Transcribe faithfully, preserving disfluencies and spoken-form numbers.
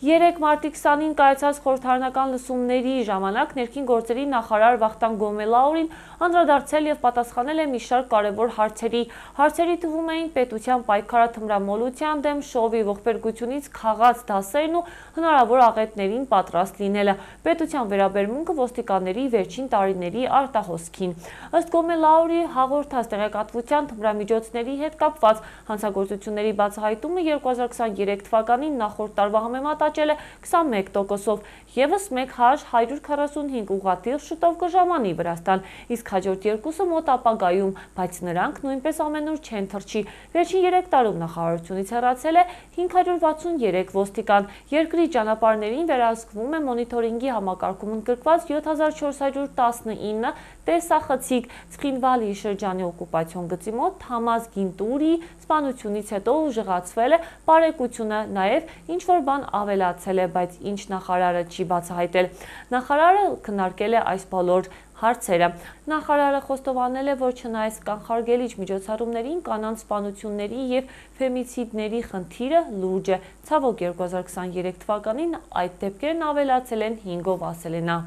Երեկ մարտի քսանին կայացած խորհրդարանական լսումների ժամանակ ներքին գործերի նախարար Վախթանգ Գոմելաուրին անդրադարձել և պատասխանել է մի շարք կարևոր հարցերի։ Հարցերի թվում էին պետության պայքարաթմրամոլության դեմ, շոուի ողբերգությունից քաղած դասերն ու հնարավոր աղետներին պատրաստ լինելը, պետության վերաբերմունքը ոստիկանների վերջին տարիների արտահոսքին։ Ըստ Գոմելաուրի հաղորդած տեղեկատվության թմրամիջոցների հետ կապված հանցագործությունների բացահայտումը երկու հազար քսաներեք թվականին նախորդ տարվա համեմատ աճել է քսանմեկ տոկոսով, ևս մեկ հազար հարյուր քառասունհինգ ուղղաթիռ շուտով կժամանի Վրաստան, իսկ հաջորդ երկուսը մոտ ապագայում, բայց նրանք նույնպես ամենուր չեն թռչի։ Վերջին երեք տարում նախարարությունից հեռացել է հինգ հարյուր վաթսուներեք ոստիկան։ Երկրի ճանապարհներին վերահսկվում է մոնիթորինգի համակարգում ընդգրկված յոթ հազար չորս հարյուր տասնինը տեսախցիկ։ Ցխինվալի շրջանի օկուպացիոն գծի մոտ Թամազ Գինտուրի սպանությունից հետո ուժեղացվել է բարեկությունը, նաև ինչ-որ բան ավելացել է, բայց ինչ նախարարը չի բացահայտել։ Նախարարը քննարկել է այս բոլոր հարցերը։ Նախարարը խոստովանել է, որ չնայած կանխարգելիչ միջոցառումներին, կանանց սպանությունների և ֆեմիցիդների խնդիրը լուրջ է։ Ցավոք, երկու հազար քսաներեք թվականին այդ դեպքերն ավելացել են հինգով, ասել է նա։